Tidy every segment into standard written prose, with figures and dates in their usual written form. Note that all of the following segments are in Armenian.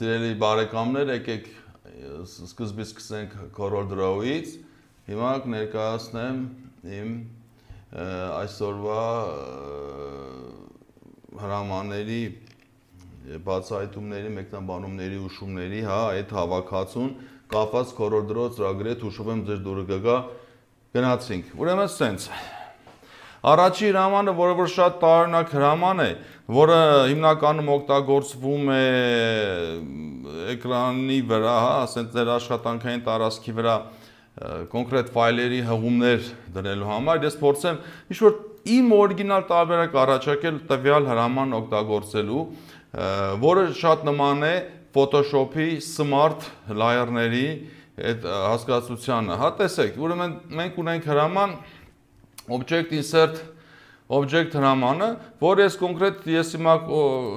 Սիրելի բարեկամներ, եկեք սկզբից սկսենք CorelDRAW-ից, հիմա կներկայացնեմ իմ այսօրվա հրամանների, բացահայտումների, մեկնաբանումների, ուշումների, այդ հավաքածուն կապված CorelDRAW ծրագրի հետ հուշում եմ ձեր դուրը գգա գնացինք, ուրեմն սենց Առաջի հրամանը, որը որ շատ տարօրինակ հրաման է, որը հիմնականում օգտագործվում է էկրանի վրա, ասենք ձեր աշխատանքային տարածքի վրա կոնկրետ ֆայլերի հղումներ դնելու համար, ես փորձեմ ինչ-որ իմ օրիգինալ տարբերակ առաջարկել տվյալ հրաման օգտագործելու, որը շատ նման է Photoshop-ի Smart Layer-ների այդ հասկացությանը, տեսեք, ուրեմն մենք ունենք հրաման Object Insert Object հրամանը, որ ես կոնկրետ ես հիմա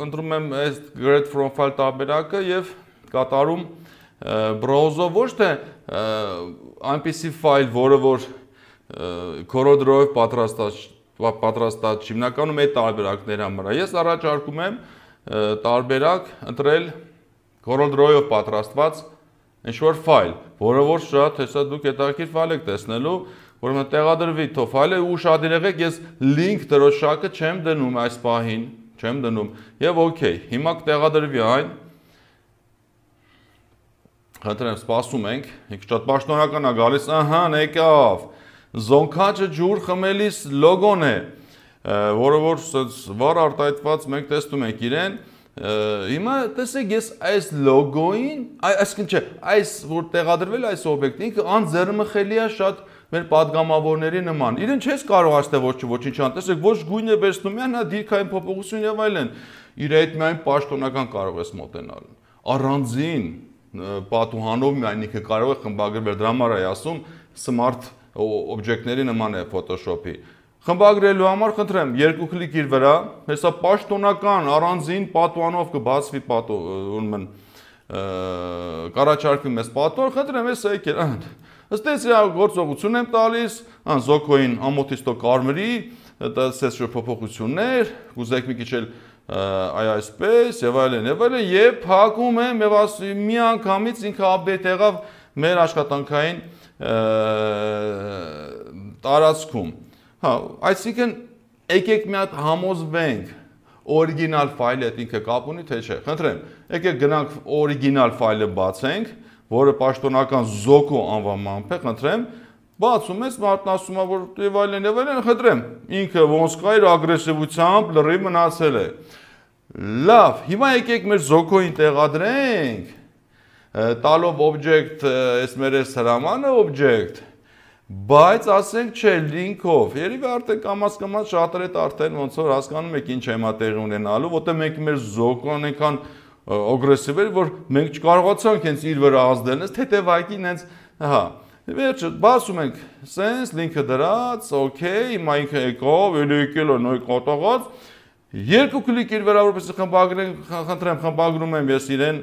ընտրում եմ այս Grade From File տարբերակը եւ կատարում browse-ով ոչ թե այնպիսի ֆայլ, որը որ CorelDRAW-ով պատրաստած հիմնականում այդ տարբերակների համար է։ Ես առաջարկում եմ տարբերակ ընտրել CorelDRAW-ով պատրաստված ինչ-որ ֆայլ, որը որ շատ հեսա դուք հետաքրքիր ֆայլ եք տեսնելու Ուրեմն տեղադրվի թո ֆայլը ու շատ եղեք ես link դրոշակը չեմ դնում այս պահին, չեմ դնում եւ օքեյ, հիմա կտեղադրվի այն Խնդրեմ, սպասում ենք, շատ պաշտոնական է գալիս, եկավ, զոնքաճը ջուր խմելիս լոգոն է, որը որ վառ արտահայտված մենք տեսնում ենք իրեն, հիմա տեսեք ես այս լոգոին, այսինքն չէ, այս որ տեղադրվել այս օբյեկտը ինքը անձեռնմխելի է շատ մեր պատգամավորների նման։ Իրեն չես կարող ասել ոչինչ ան, տեսեք ոչ գույն է վերցնում յան, դիրքային փոփոխություն եւ այլն։ Իր այդ միայն պաշտոնական կարող ես մոտենալ։ Առանձին պատուհանով միայն ինքը կարող է խմբագրվել, դրա համար է ասում smart օբյեկտների նման է Photoshop-ի։ Խմբագրելու համար խնդրեմ, երկու կլիկ իր վրա, հեսա պաշտոնական առանձին պատուհանով կբացվի ուրեմն կառաջարկվի մեզ պատուհան, խնդրեմ ես եկել Ըստ էս գործողություն եմ տալիս, զոքոյին ամոթից տո կարմրի, տեսես շո փոփոխություններ, կուզեք մի քիչ էլ այսպես եւ այլն, եւ փակում եմ եւ մի անգամից ինքը update եղավ մեր աշխատանքային տարածքում։ Այսինքն եկեք մի հատ համոզվենք օրիգինալ ֆայլը հետ ինքը կապ ունի թե չէ։ Խնդրեմ, եկեք գնանք օրիգինալ ֆայլը բացենք որը պաշտոնական զոկո անվանմամբ է, խնդրեմ, բացում ես, մարդն ասում է, որ եւ այլն, խնդրեմ, ինքը ոնց կա իր ագրեսիվությամբ լրիվ մնացել է։ Լավ, հիմա եկեք մեր զոկոին տեղադրենք, տալով object, այս մեր այս հրամանը object, բայց ասենք չէ, link-ով, երևի արդեն կամաց շատերը արդեն ոնց որ հասկանում եք ինչ է հիմա տեղի ունենալու, որտեղ մենք մեր զոկոն այնքան ագրեսիվ էր, որ մենք չկարողացանք հենց իր վրա ազդել, թեթևակի հենց, վերջը, բացում ենք, սենց, լինքը դրած, օքեյ, հիմա ինքը եկավ, էլի եկել է նոյ կոտողած, երկու կլիկ իր վրա, որպես խնդրեմ, խմբագրում եմ ես իրեն,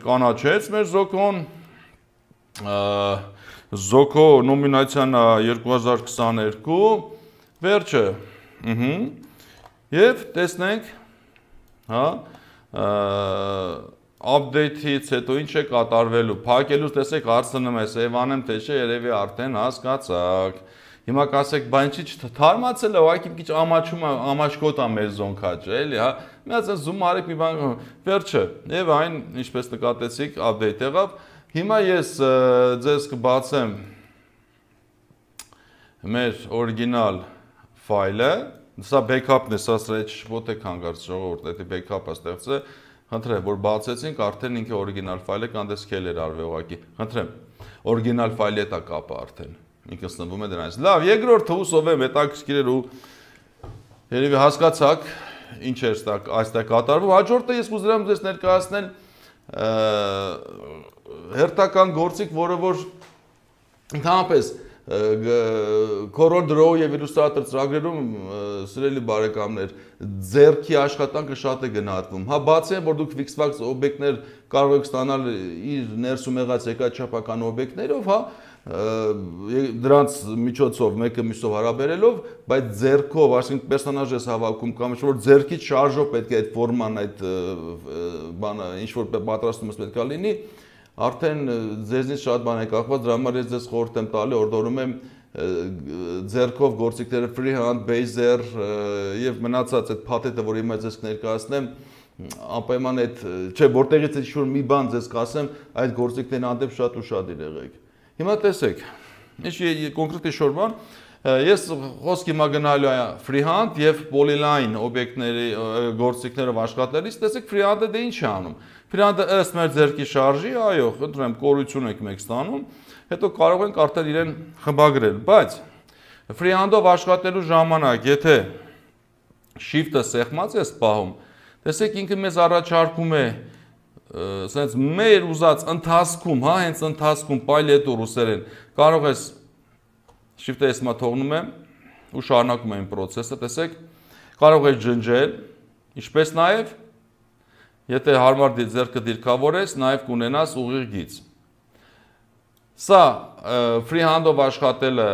կանաչեց մեր զոքոն, զոքո նոմինացիան 2022, վերջը, և տեսնենք, update-ից հետո ինչ է կատարվելու, փակելուց տեսեք հարցնում է, save անեմ թե չէ, երևի արդեն հասկացաք։ Հիմա կասեք, բա ինչի չթարմացել է, ուղղակի մի քիչ ամաչկոտ է մեր զոնքաճը, էլի, մի հատ zoom արեք մի բան, վերջը, եւ այն ինչպես նկատեցիք, update եղավ։ Հիմա ես ձեզ կբացեմ մեր օրիգինալ ֆայլը Սա backup-ն է, սա ոչ եք հանգարց ժողովուրդ, դա backup-ը ստեղծել, խնդրեմ, որ բացեցինք, արդեն ինքը օրիգինալ ֆայլը կանդես scaler արվի ուղղակի, խնդրեմ, օրիգինալ ֆայլի հետ է կապը արդեն, ինքը սնվում է դրանից։ Լավ, երկրորդ հուսով եմ, հետաքրքիր էր ու երևի հասկացաք, ինչ էր այստեղ կատարվում, հաջորդը ես կուզենամ ձեզ ներկայացնել հերթական գործիք, որը որ ընդհանրապես CorelDRAW եւ Illustrator ծրագրերում սիրելի բարեկամներ ձեռքի աշխատանքը շատ է գնահատվում։ Բացի որ դուք fixed-wax օբյեկտներ կարող եք ստանալ իր ներսում եղած եկայչափական օբյեկտներով, դրանց միջոցով մեկը մյուսով հարաբերելով, բայց ձեռքով, այսինքն պերսոնաժ ես հավաքում կամ ինչ-որ ձեռքից շարժով պետք է այդ ֆորման, այդ բանը ինչ-որ պատրաստումս պետք է լինի, արդեն ձեզնից շատ բան է կախված, դրա համար ես ձեզ խորհուրդ եմ տալի, օրդորում եմ ձեռքով գործիքները freehand, baser եւ մնացած այդ փաթեթը, որ հիմա ձեզ կներկայացնեմ, անպայման այդ, չէ, որտեղից է ինչ-որ մի բան ձեզ կասեմ, այդ գործիքներն հանդեպ շատ ուշադիր եղեք։ Հիմա տեսեք, ինչ կոնկրետ ինչ-որ բան, ես խոսք հիմա գնալու է freehand եւ polyline օբյեկտների գործիքներով աշխատելիս, տեսեք freehand-ը դե ինչ է անում։ Freehand-ը ըստ մեր ձեռքի շարժի, այո, խնդրեմ, կորություն եք մեկ ստանում, հետո կարող ենք արդեն իրեն խմբագրել, բայց freehand-ով աշխատելու ժամանակ, եթե shift-ը սեղմած ես պահում, տեսեք ինքը մեզ առաջարկում է սենց մեր ուզած ընթացքում, հա, հենց ընթացքում պայլետո ռուսերեն կարող ես shift-ը ես մա թողնում եմ ու շարունակում եմ process-ը, տեսեք, կարող ես ջնջել, ինչպես նաև եթե հարմար ձեռքը դիրքավորես, նաև կունենաս ուղիղ գիծ։ Սա freehand-ով աշխատելը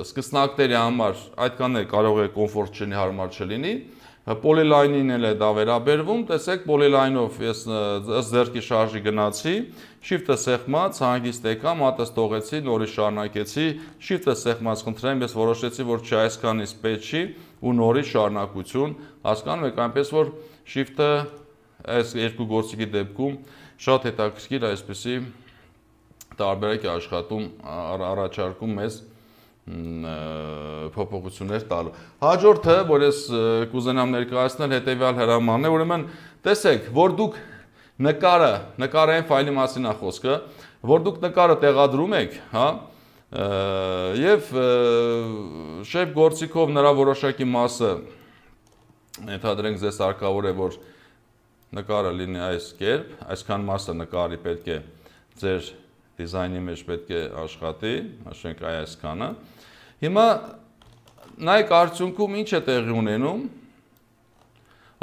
սկսնակների համար այդքան է կարող է կոմֆորտ չլինի, հարմար չլինի։ Polyline-ին էլ է դա վերաբերվում, տեսեք polyline-ով ես ըստ ձեռքի շարժի գնացի, shift-ը սեղմած, հանգիստ եկա, մատս թողեցի, նորից շարունակեցի, shift-ը սեղմած, խնդրեմ, ես որոշեցի, որ չի այսքանից պետք չի ու նորից շարունակություն, հասկանում եք, այնպես որ shift-ը այս երկու գործիքի դեպքում շատ հետաքրքիր այսպեսի տարբերակ է աշխատում, առաջարկում մեզ փոփոխություններ տալու։ Հաջորդը, որ ես կուզենամ ներկայացնել, հետևյալ հրամանն է, ուրեմն տեսեք, որ դուք նկարային ֆայլի մասին է խոսքը, որ դուք նկարը տեղադրում եք, հա, եւ շեփ գործիքով նրա որոշակի մասը ենթադրենք ձեզ հարկավոր է, որ նկարը լինի այս կերպ, այսքան մասը նկարի պետք է ձեր դիզայնի մեջ պետք է աշխատի, ասենք այսքանը։ Հիմա նայեք արդյունքում ինչ է տեղի ունենում։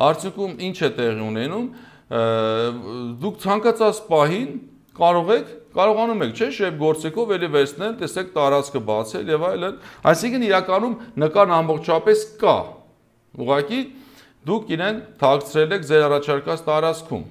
Արդյունքում ինչ է տեղի ունենում։ Դուք ցանկացած պահին կարողանում եք, չէ՞, շեփ գործիքով էլի վերցնել, տեսեք տարածքը բացել եւ այլն։ Այսինքն իրականում նկարն ամբողջապես կա։ Ուղղակի դուք իրեն թաքցրել եք ձեր առաջարկած տարածքում։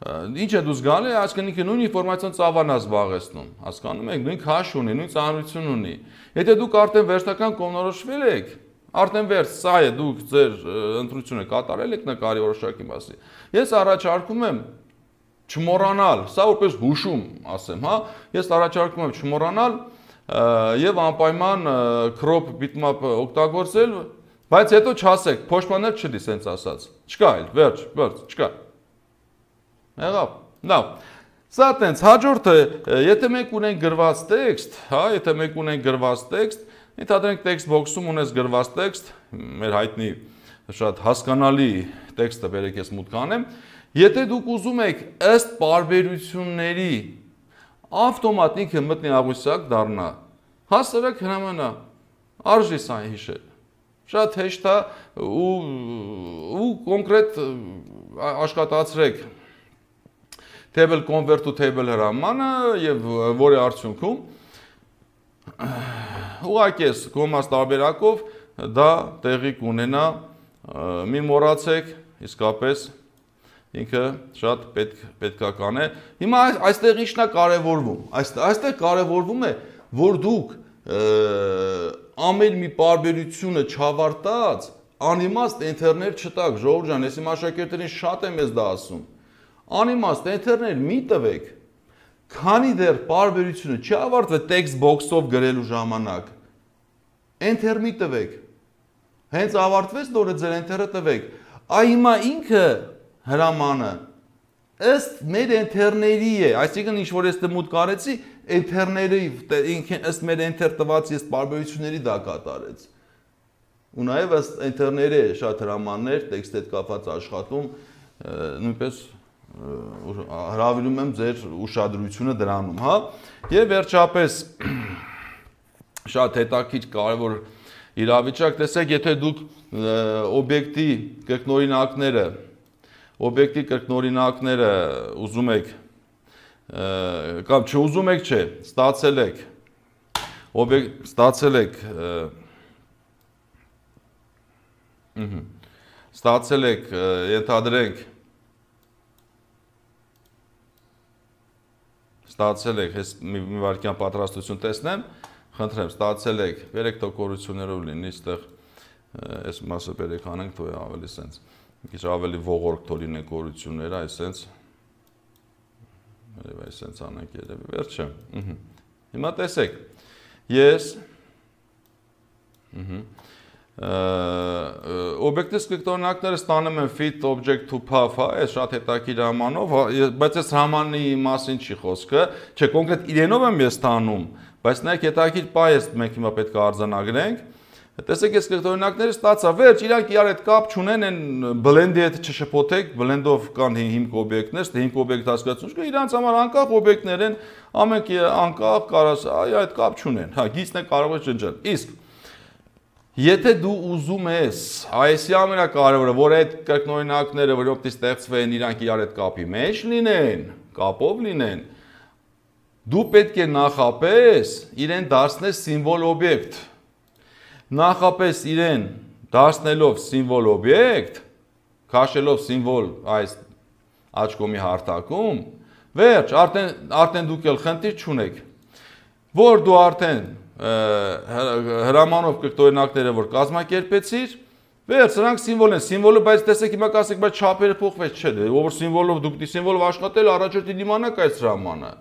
Ինչ է դու զգալի, այսինքն ինքը նույն ինֆորմացիոն ծավալն է զբաղեցնում, հասկանում եք, նույն քաշ ունի, նույն ծանրություն ունի։ Եթե դուք արդեն վերջնական կողմնորոշվել եք, արդեն վերջ, սա է, դուք ձեր ընտրությունը կատարել եք նկարի որոշակի մասի։ Ես առաջարկում եմ չմոռանալ, սա որպես հուշում ասեմ, հա, ես առաջարկում եմ չմոռանալ եւ անպայման crop bitmap օգտագործել, բայց հետո չասեք, փոշմանել չլի, սենց ասած։ Չկա այլ, վերջ, չկա։ Եղավ, լավ, սա տենց, հաջորդը, եթե մենք ունենք գրված տեքստ, հա, եթե մենք ունենք գրված տեքստ, ենթադրենք տեքստ բոքսում ունես գրված տեքստ, մեր հայտնի շատ հասկանալի տեքստը բերեք ես մուտք անեմ, եթե դուք ուզում եք ըստ պարբերությունների ավտոմատ ինքը մտնի աղյուսակ դառնա, հասարակ հնամանա, արժի սա հիշել, շատ հեշտ է ու կոնկրետ աշխատացրեք table convert to table հրամանը եւ որի արդյունքում ուղղակի ես կոմաս տարբերակով դա տեղի կունենա, մի մոռացեք, իսկապես ինքը շատ պետքական է։ Հիմա այստեղ ինչն է կարևորվում։ Այստեղ կարևորվում է, որ դուք ամեն մի պարբերությունը չավարտած անիմաստ էնթերներ չտաք, ժողովուրդ ջան, ես իմ աշակերտներին շատ եմ ես դա ասում։ Անիմաստ էնթերներ մի տվեք, քանի դեռ պարբերությունը չի ավարտվել text box-ով գրելու ժամանակ, էնթեր մի տվեք, հենց ավարտվեց նորը ձեր էնթերը տվեք, այ հիմա ինքը հրամանը ըստ մեր էնթերների է, այսինքն ինչ որ ես մուտք արեցի, էնթերների, ըստ մեր էնթեր տված ես պարբերությունների դա կատարեց։ Ու նաև ըստ էնթերների շատ հրամաններ, տեքստի հետ կապված աշխատում, նույնպես հրավիրում եմ ձեր ուշադրությունը դրանում, հա, եւ վերջապես շատ հետաքրքիր կարևոր իրավիճակ, տեսեք, եթե դուք օբյեկտի կրկնօրինակները ուզում եք կամ չուզում եք, չէ, ստացել եք Ստացել եք, ենթադրենք, ստացել եք, ես մի վարքյան պատրաստություն տեսնեմ, խնդրեմ, ստացել եք, բերեք տոկորություններով լինի, ստեղ այս մասը բերեք անենք, թող ավելի սենց, մի քիչ ավելի ողորկ թող լինեն կորությունները, այսենց, այսենց անենք երևի, վերջը, հիմա տեսեք, ես, օբյեկտի սկրկտորնակները ստանում են fit object to path, այս շատ հետաքրքիր հրամանով, բայց այս հրամանի մասին չի խոսքը, չէ, կոնկրետ իրենով եմ ես ստանում, բայց նայեք հետաքրքիր պայ մենք հիմա պետք է արձանագրենք, տեսեք այս սկրկտորնակները ստացա, վերջ իրանք իրար հետ կապ չունեն, են blend-ի հետ չշփոթեք, blend-ով կան հիմք օբյեկտներ, հիմք օբյեկտ հասկացություն կա, իրանց համար անկախ օբյեկտներ են, ամենք անկախ կարաս, այդ կապ չունեն, գիծն է կարող է ջնջել, իսկ եթե դու ուզում ես, այսի ամենակարևորը, որ այդ կրկնօրինակները, որով ստեղծվեն, իրանք իրար հետ կապի մեջ լինեն, կապով լինեն, դու պետք է նախապես իրեն դարձնես սիմվոլ օբյեկտ, նախապես իրեն դարձնելով սիմվոլ օբյեկտ, քաշելով սիմվոլ այս աչքոմի հարթակում, վերջ, արդեն դուք էլ խնդիր չունեք, որ դու արդեն հրամանով կրկնօրինակները որ կազմակերպեցիր, վերջ, սրանք սիմվոլ են, սիմվոլը, բայց տեսեք հիմա կասեք, բայց չափերը փոխվեց չէ, ով սիմվոլով դուք սիմվոլով աշխատել, առաջորդի դիմանաք այս հրամանը։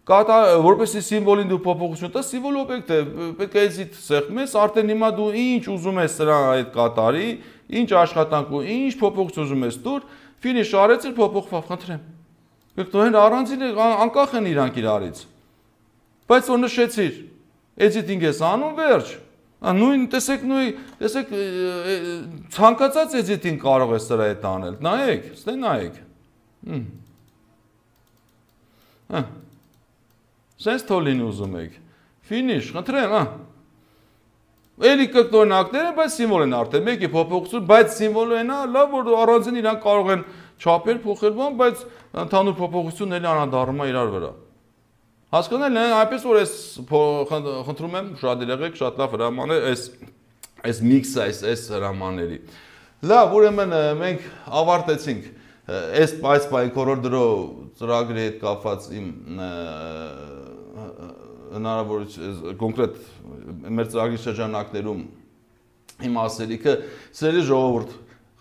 Որպեսզի սիմվոլին դու փոփոխություն տաս, սիմվոլ օբյեկտ է, պետք է էզիտ սեղմես, արդեն հիմա դու ինչ ուզում ես սրա այդ կատարի, ինչ աշխատանք ու ինչ փոփոխություն ուզում ես տուր, ֆինիշ արեցիր, փոփոխվավ, խնդրեմ։ Կրկնօրեն առանձին անկախ են իրանք իրարից։ Բայց որ նշեցիր, էդիտինգ ես անում, վերջ։ Նույն տեսեք ցանկացած էդիտինգ կարող է սրա հետ անել։ Նայեք, ստե նայեք։ Սենց թոլին ուզում եք։ Ֆինիշ, խնդրեմ, Էլի կրկնօրինակներ են, բայց սիմվոլ են արդեն, մեկի փոփոխություն, բայց սիմվոլը են, լավ որ առանձին իրանք կարող են չափեր փոխել, բայց ընդհանուր փոփոխությունն էլի անդառնում է իրար վրա։ Հասկանալ են, այնպես որ ես խնդրում եմ շատ եղեք, շատ լավ հրաման է այս միքսը, այս հրամանների։ Լավ, ուրեմն մենք ավարտեցինք այս կորորդրո ծրագրի հետ կապված իմ հնարավորություն կոնկրետ մեր ծրագրի շրջանակներում իմ ասելիքը, սիրելի ժողովուրդ,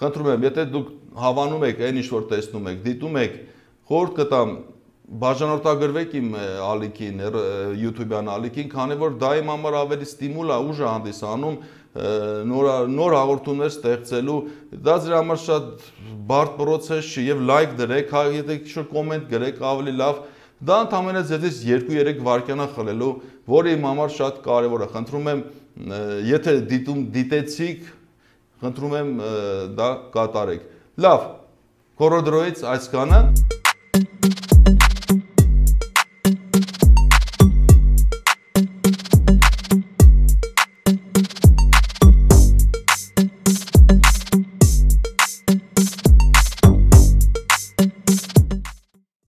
խնդրում եմ, եթե դուք հավանում եք, այն ինչ որ տեսնում եք, դիտում եք, խորհուրդ կտամ բաժանորդագրվեք իմ ալիքին, YouTube-յան ալիքին, քանի որ դա իմ համար ավելի ստիմուլ է, ուժ է հանդիսանում նոր հաղորդումներ ստեղծելու, դա ձեր համար շատ բարդ process չի եւ լայք դրեք, եթե ինչ-որ կոմենտ գրեք, ավելի լավ, դա ընդհանրապես ձեզից 2-3 վայրկյան է խլելու, որը իմ համար շատ կարեւոր է։ Խնդրում եմ, եթե դիտեցիք, խնդրում եմ դա կատարեք։ Լավ, կորոդրոյից այսքանը